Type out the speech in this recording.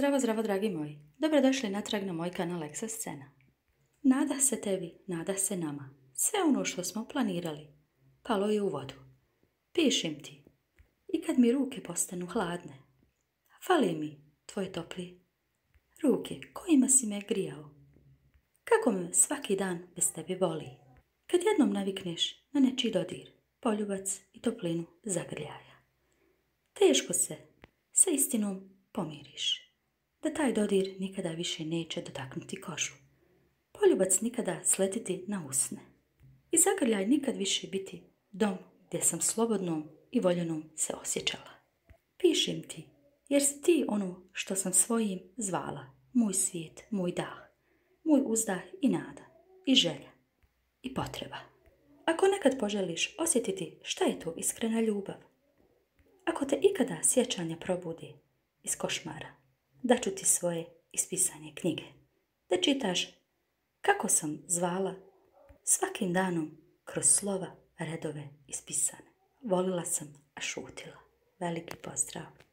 Zdravo, zdravo, dragi moji. Dobrodošli natrag na moj kanal Eksa Scena. Nada se tebi, nada se nama. Sve ono što smo planirali, palo je u vodu. Pišem ti. I kad mi ruke postanu hladne, fali mi tvoje topli ruke kojima si me grijao. Kako me svaki dan bez tebe boli. Kad jednom navikneš na nečiji dodir, poljubac i toplinu zagrljaja. Teško se sa istinom pomiriš. Da taj dodir nikada više neće dotaknuti kožu. Poljubac nikada sletiti na usne. I zagrljaj nikad više biti dom gdje sam slobodnom i voljenom se osjećala. Pišem ti, jer si ti ono što sam svojim zvala. Moj svijet, moj dah, moj uzdah i nada, i želja, i potreba. Ako nekad poželiš osjetiti šta je to iskrena ljubav, ako te ikada sjećanja probudi iz košmara, daću ti svoje ispisane knjige, da čitaš kako sam zvala svakim danom kroz slova redove ispisane. Volila sam, a šutila. Veliki pozdrav!